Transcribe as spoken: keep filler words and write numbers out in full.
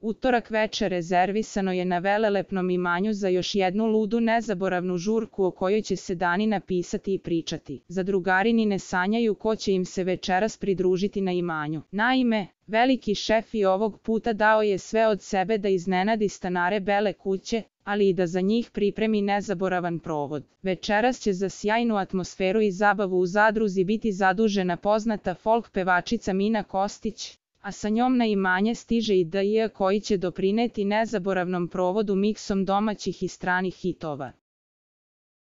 Utorak veče rezervisano je na velelepnom imanju za još jednu ludu nezaboravnu žurku o kojoj će se danina pisati i pričati. Zadrugari ni ne sanjaju ko će im se večeras pridružiti na imanju. Naime, veliki šef i ovog puta dao je sve od sebe da iznenadi stanare Bele kuće, ali i da za njih pripremi nezaboravan provod. Večeras će za sjajnu atmosferu i zabavu u zadruzi biti zadužena poznata folk pevačica Mina Kostić, a sa njom na imanje stiže i D J koji će doprineti nezaboravnom provodu miksom domaćih i stranih hitova.